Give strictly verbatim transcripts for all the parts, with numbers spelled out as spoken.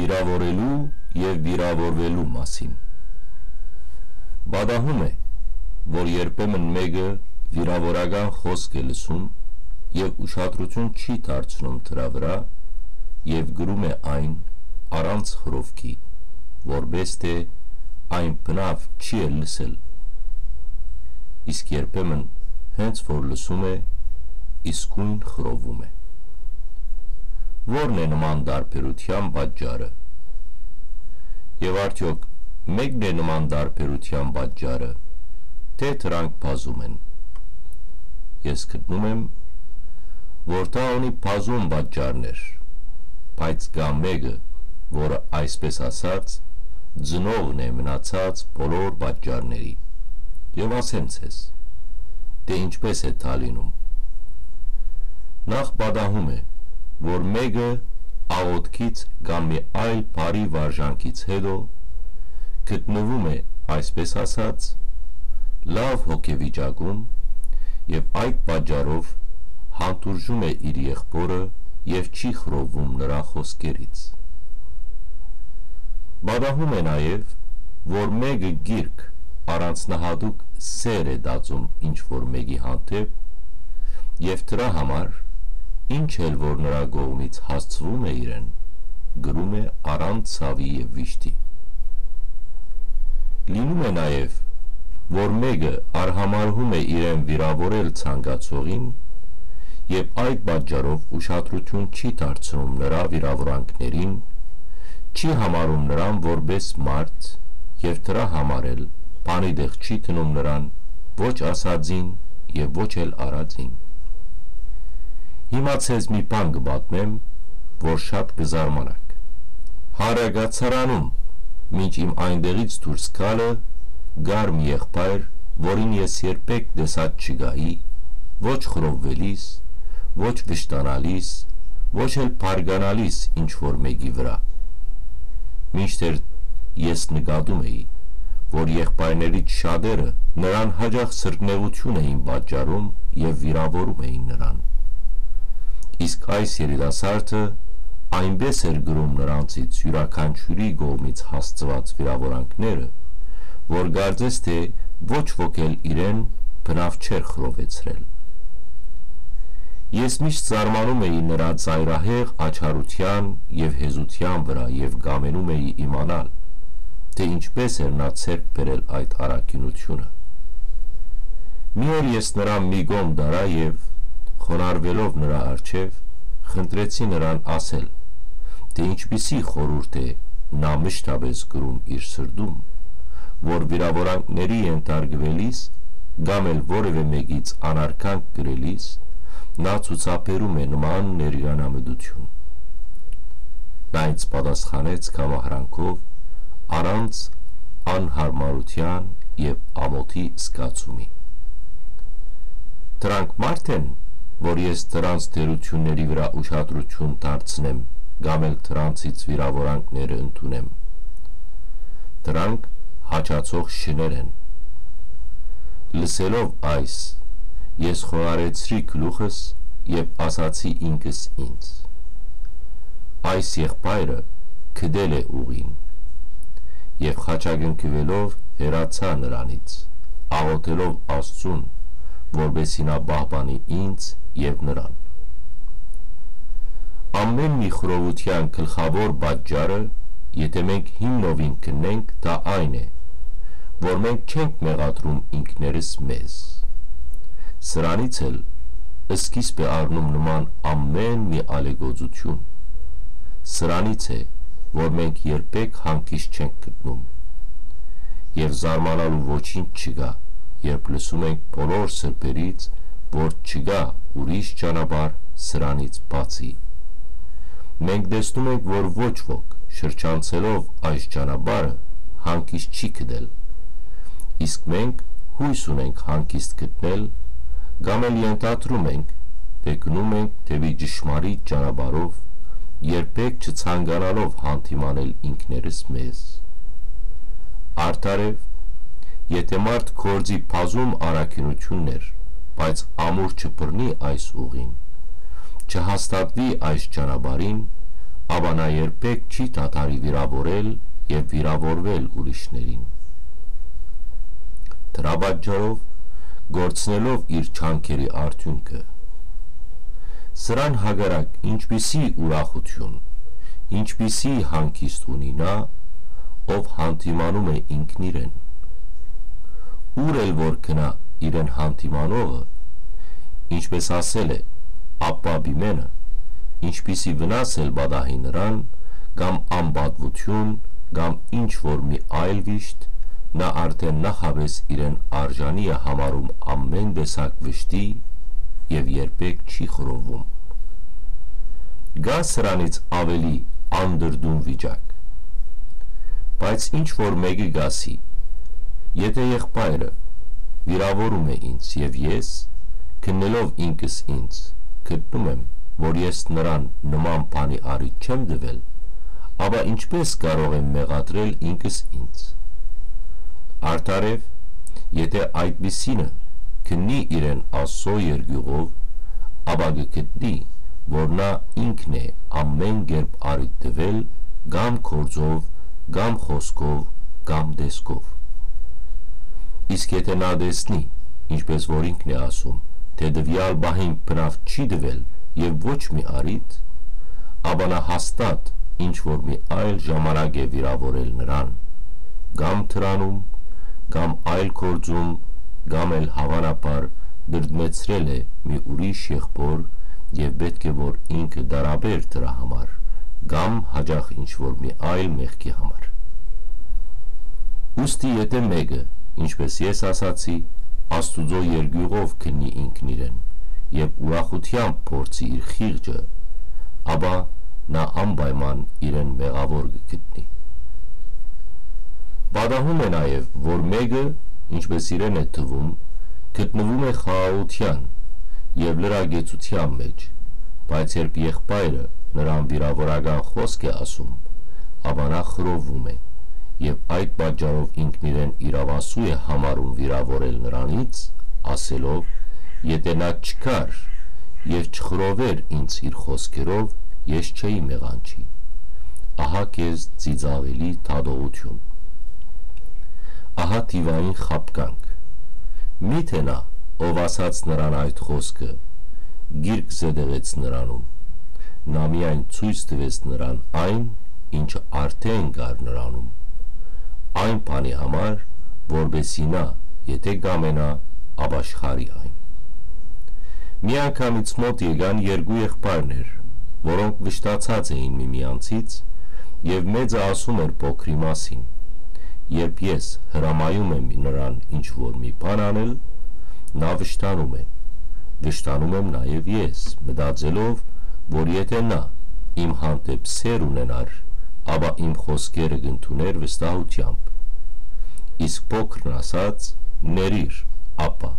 Վիրաւորելու եւ վիրաւորուելու մասին։ Պատահում է, որ երբեմն մէկը վիրաւորական խօսք է լսում եւ ուշադրութիւն չի դարձնում դրա վրայ եւ կրում է այն առանց խռովքի, որպէս թէ այն բնաւ չի էլ լսել։ Իսկ երբեմն հենց որ լսում է, իսկոյն խռովում է։ Ո՞րն է նման տարբերութեան պատճառը։ Եւ արդեօք մե՞կն է նման տարբերութեան պատճառը, թէ դրանք բազում են։ Ես գտնում եմ, որ դա ունի բազում պատճառներ, բայց կայ մէկը, որը, այսպես ասած, ծնողն է մնացած բոլոր պատճառների։ Եւ ասեմ ձեզ, թէ ինչպես է դա լինում։ Նախ պատահում է, որ մէկը աղօթքից կամ մի այլ բարի վարժանքից հետո գտնվում է, այսպես ասած, լաւ հոգեվիճակում եւ այդ պատճառով հանդուրժում է իր եղբօրը եւ չի խռովում նրա խօսքերից։ Պատահում է նաեւ, որ մէկը գիրք առանձնահատուկ սեր է տածում ինչ որ մէկի հանդէպ եւ դրա համար, ինչ էլ որ նրա կողմից հասցվում է իրեն, կրում է առանց ցաւի եւ վիշտի։ Լինում է նաեւ, որ մէկը արհամարհում է իրեն վիրաւորել ցանկացողին եւ այդ պատճառով ուշադրութիւն չի դարձնում նրա վիրաւորանքներին, չի համարում նրան որպէս մարդ եւ դրա համար էլ բանի տեղ չի դնում նրան ոչ ասածին եւ ոչ էլ արածին։ Հիմա ձեզ մի բան կը պատմեմ, որ շատ կը զարմանաք։ Հարագացարանում, մինչ իմ այնտեղից դուրս գալը, կար մի եղբայր, որին ես երբեք տեսած չկայի, ոչ խռովուելիս, ոչ վշտանալիս, ոչ էլ բարկանալիս ինչ որ մէկի վրայ։ Մինչդեռ ես նկատում էի, որ եղբայրներից շատերը նրան յաճախ սրտնեղութիւն էին պատճառում եւ վիրաւորում էին նրան։ Իսկ այս երիտասարդը այնպէս էր կրում նրանցից իւրաքանչիւրի կողմից հասցուած վիրաւորանքները, որ կարծես թէ ոչ ոք էլ իրեն բնաւ չէր խռովեցրել։ Ես միշտ զարմանում էի նրա ծայրահեղ աչառութեան եւ հեզութեան վրայ եւ կամենում էի իմանալ, թէ ինչպէս էր նա ձեռք բերել այդ առաքինութիւնը։ Մի օր ես նրան մի կողմ տարայ եւ, խոնարհուելով նրա առջեւ, խնդրեցի նրան ասել, թէ ինչպիսի խորհուրդ է նա մշտապէս կրում իր սրտում, որ վիրաւորանքների ենթարկուելիս կամ էլ որեւէ մէկից անարգանք կրելիս, նա ցուցաբերում է նման ներկանամտութիւն։ Նա ինձ պատասխանեց կամահրանքով, առանց անյարմարութեան եւ ամօթի զգացումի։ Դրանք մարդ են, որ ես դրանց թերությունների վրայ ուշադրութիւն դարձնեմ կամ էլ դրանցից վիրաւորանքներ ընդունեմ։ Դրանք հաճացող շներ են։ Լսելով այս, ես խոնարհեցրի գլուխս եւ ասացի ինքս ինձ. «Այս եղբայրը գտել է ուղին»։ Եւ խաչակնքուելով հեռացայ նրանից, աղօթելով Աստծուն, որպեսզի նա պահպանի ինձ եւ նրան։ Ամէն մի խռովութեան գլխաւոր պատճառը, եթէ մենք հիմնովին քննենք, դա այն է, որ մենք չենք մեղադրում ինքներս մեզ։ Սրանից էլ սկիզբ է առնում նման ամէն մի ալեգործութիւն։ Սրանից է, որ մենք երբեք հանգիստ չենք գտնում։ Եւ զարմանալու ոչինչ չկայ, երբ լսում ենք բոլոր սրբերից, որ չկայ ուրիշ ճանապարհ սրանից բացի։ Մենք տեսնում ենք, որ ոչ ոք, շրջանցելով այս ճանապարհը, հանգիստ չի գտել։ Իսկ մենք յոյս ունենք հանգիստ գտնել, կամ էլ ենթադրում ենք, թէ գնում ենք դեպի ճշմարիտ ճանապարհով, երբեք չցանկանալով հանդիմանել ինքներս մեզ։ Արդարեւ, եթէ մարդ գործի բազում առաքինութիւններ, բայց ամուր չբռնի այս ուղին, չհաստատուի այս ճանապարհին, Ապա նա երբեք չի դադարի վիրաւորել եւ վիրաւորվել ուրիշներին։ Դրա պատճառով, կորցնելով իր ջանքերի արդիւնքը, սրան հակառակ ինչպիսի ուրախութիւն, ինչպիսի հանգիստ ունի նա, ով հանդիմանում է ինքնիրեն։ Ուր էլ որ գնայ իրեն հանդիմանողը, ինչպէս ասել է Աբբա Պիմենը, ինչպիսի վնաս էլ պատահի նրան, կամ անպատուութիւն, կամ ինչ որ մի այլ վիշտ, նա արդէն նախապէս իրեն արժանի է համարում ամէն տեսակ վշտի եւ երբեք չի խռովվում։ Կա սրանից աւելի անդրդուն վիճակ։ Բայց ինչ որ մէկը կ'ասի, եթէ եղբայրը վիրաւորում է ինձ եւ ես, քննելով ինքս ինձ, գտնում եմ, որ ես նրան նման բանի առիթ չեմ տուել, ապա ինչպէս կարող եմ մեղադրել ինքս ինձ։ Արդարեւ, եթէ այդպիսինը քննի իրեն Աստծոյ երկիւղով, ապա կը գտնի, որ նա ինքն է ամէն կերպ առիթ տուել կամ գործով, կամ խօսքով, կամ տեսքով։ Իսկ եթէ նա տեսնի, ինչպէս որ ինքն է ասում, թէ տուեալ պահին բնաւ չի տուել եւ ոչ մի առիթ, ապա նա հաստատ ինչ որ մի այլ ժամանակ է վիրաւորել նրան, կամ դրանում, կամ այլ գործում, կամ էլ հաւանաբար դրդմեցրել է մի ուրիշ եղբոր եւ պէտք է որ ինքը դարաբեր դրա համար, կամ հաճախ ինչ որ մի այլ մեղքի համար։ Ուստի եթէ մէկը, ինչպէս ես ասացի, Աստուծոյ երկիւղով քննի ինքնիրեն եւ ուրախութեամբ փորձի իր խիղճը, ապա նա անպայման իրեն մեղաւոր կը գտնի։ Պատահում է նաեւ, որ մէկը, ինչպէս իրեն է թվում, գտնվում է խաղաղութեան եւ լրագեցութեան մէջ, բայց երբ եղբայրը նրան վիրաւորական խօսք է ասում, ապա նա խռովվում է եւ այդ պատճառով ինքնիրեն իրաւասու է համարում վիրաւորել նրանից, ասելով. «Եթէ նա չգար եւ չխռովէր ինձ իր խօսքերով, ես չէի մեղանչի»։ Ահա քեզ ծիծաղելի դատողութիւն։ Ահա դիւային խաբկանք։ Միթէ նա, ով ասաց նրան այդ խօսքը, գիրք զետեղեց նրանուն, նա միայն ցոյց տուեց նրան այն, ինչը արդէն կար նրանում, այն բանի համար, որպեսզի նա, եթէ կամենայ, ապաշխարի այն։ Մի անգամ ինձ մօտ եկան երկու եղբայրներ, որոնք վշտացած էին միմյանցից, եւ մեծը ասում էր փոքրի մասին։ Երբ ես հրամայում եմ նրան ինչ որ մի բան անել, նա վշտանում է։ Վշտանում եմ նաեւ ես, մտածելով, որ եթէ նա իմ հանդէպ սէր ունենար, ապա իմ խօսքերը կ'ընդունէր վստահութեամբ։ Իսկ փոքրն ասաց. «Ներիր, ապա»։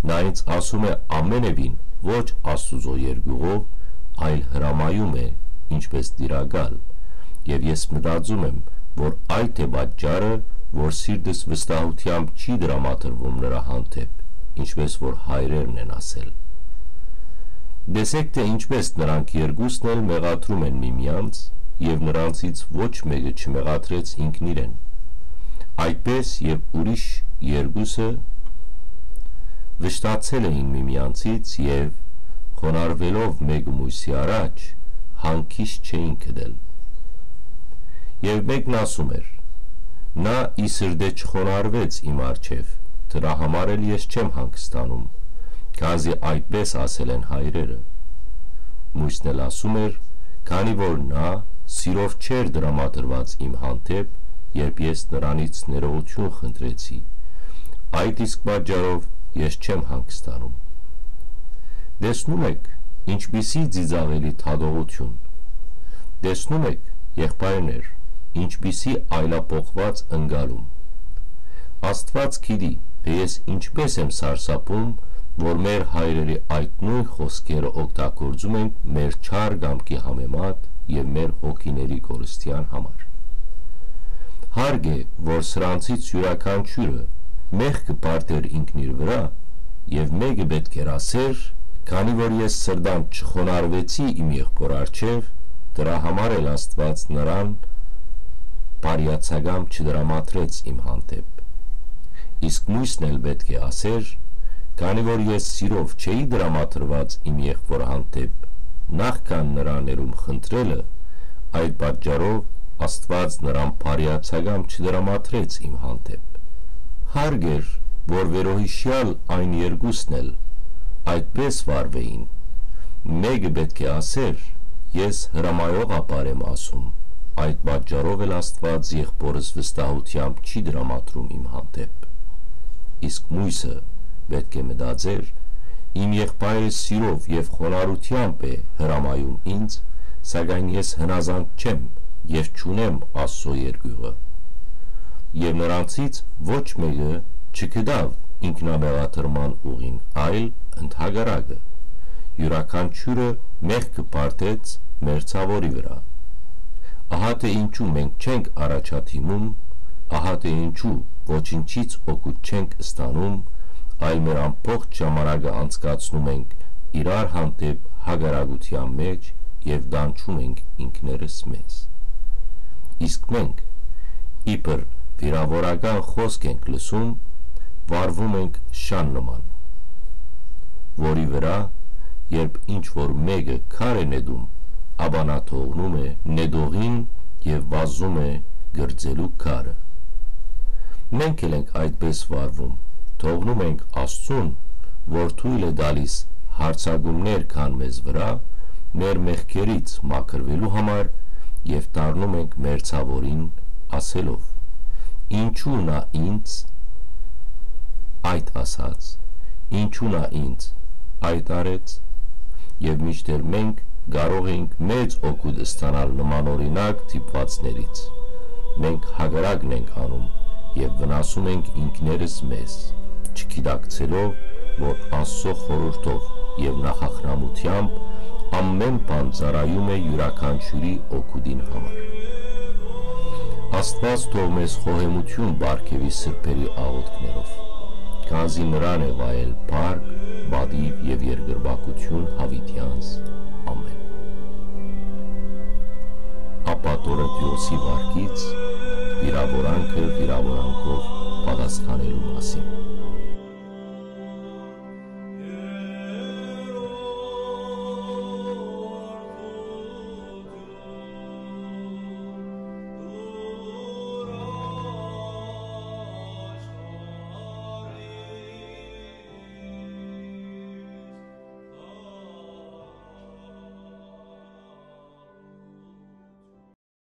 Նա ինձ ասում է ամենեւին ոչ Աստուծոյ երկիւղով, այլ հրամայում է, ինչպէս տիրակալ, եւ ես մտածում եմ, որ այդ է պատճառը, որ սիրտս վստահութեամբ չի տրամադրվում նրա հանդէպ, ինչպէս որ հայրերն են ասել։ Տեսէք թէ ինչպէս նրանք երկուսն էլ մեղադրում են միմյանց, եւ նրանցից ոչ մէկը չմեղադրեց ինքնիրեն։ Այդպէս եւ ուրիշ երկուսը վշտացել էին միմյանցից եւ, խոնարհուելով մէկը մյուսի առաջ, հանգիստ չէին գտել։ Եւ մէկն ասում էր. «Նա ի սրտէ չխոնարհուեց իմ առջեւ, դրա համար էլ ես չեմ հանգստանում, քանզի այդպէս ասել են հայրերը»։ Մյուսն էլ ասում էր. «Քանի որ նա սիրով չէր տրամադրված իմ հանդէպ, երբ ես նրանից ներողութիւն խնդրեցի, այդ իսկ պատճառով ես չեմ հանգստանում»։ Տեսնո՞ւմ էք, ինչպիսի ծիծաղելի դատողութիւն։ Տեսնո՞ւմ էք, եղբայրներ, ինչպիսի այլափոխուած ընկալում։ Աստուած գիտի, թէ ես ինչպէս եմ սարսափում, որ մեր հայրերի այդ նոյն խօսքերը օգտագործում ենք մեր չար կամքի համեմատ եւ մեր հոգիների կորստեան համար։ Հարկ է, որ սրանցից իւրաքանչիւրը մեղքը պարտէր ինքնիր վրայ, եւ մէկը պէտք էր ասեր. «Քանի որ ես սրտան չխոնարհուեցի իմ եղբոր առջեւ, Դրա համար էլ Աստուած նրան բարեացակամ չդրամատրեց իմ հանդէպ։ Իսկ միւսն էլ պէտք է ասէր. «Քանի որ ես սիրով չէի դրամատրուած իմ եղբոր հանդէպ, նախքան նրա ներում խնդրելը, այդ պատճառով Աստուած նրան բարեացակամ չդրամատրեց իմ հանդէպ»։ Հարկ էր, որ վերոյիշեալ այն երկուսն էլ այդպես վարուէին։ Մէկը պէտք է ասէր. «Ես հրամայող ապար եմ ասում, այդ պատճառով էլ Աստուած եղբորս վստահութեամբ չի դրամատրում իմ հանդէպ»։ Իսկ միւսը պէտք է մտածէր. «Իմ եղբայրը սիրով եւ խոնարհութեամբ է հրամայում ինձ, սակայն ես հնազանդ չեմ եւ չունեմ Աստուծոյ երկիւղը»։ Եւ նրանցից ոչ մէկը չգտաւ ինքնամեղադրման ուղին, այլ ընդհակառակը, իւրաքանչիւրը մեղքը պարտեց մերձաւորի վրայ։ Ահա թէ ինչու մենք չենք առաջադիմում, ահա թէ ինչու ոչինչից օգուտ չենք ստանում, այլ մեր ամբողջ ժամանակը անցկացնում ենք իրար հանդէպ հակառակութեան մէջ եւ տանջում ենք ինքներս մեզ։ Իսկ մենք, իբր վիրաւորական խօսք ենք լսում, վարվում ենք շան նման, որի վրայ, երբ ինչ որ մէկը քար է նետում, ապա նա թողնում է նետողին եւ վազում է կրծելու քարը։ Մենք էլ ենք այդպես վարվում, թողնում ենք Աստծուն, որ թոյլ է տալիս յարձակումներ գան մեզ վրայ, մեր մեղքերից մաքրուելու համար, եւ դառնում ենք մերձաւորին, ասելով. «Ինչու նա ինձ այդ ասաց, ինչու նա ինձ այդ արեց»։ Եւ մինչդեռ մենք կարող ենք մեծ օգուտ ստանալ նմանօրինակ դիպուածներից, մենք հակառակն ենք անում եւ վնասում ենք ինքներս մեզ, չգիտակցելով, որ Աստուծոյ խորհուրդով եւ նախախնամութեամբ ամէն բան ծառայում է իւրաքանչիւրի օգուտին համար։ Աստուած թող մեզ խոհեմութիւն պարգեւի սրբերի աղօթքներով, քանզի նրան է վայել փառք, պատիւ եւ երկրպագութիւն յաւիտեանց։ Ամէն։ Ապա Տորնտիոսի վարկից վիրաւորանքը վիրաւորանքով պատասխանելու մասին։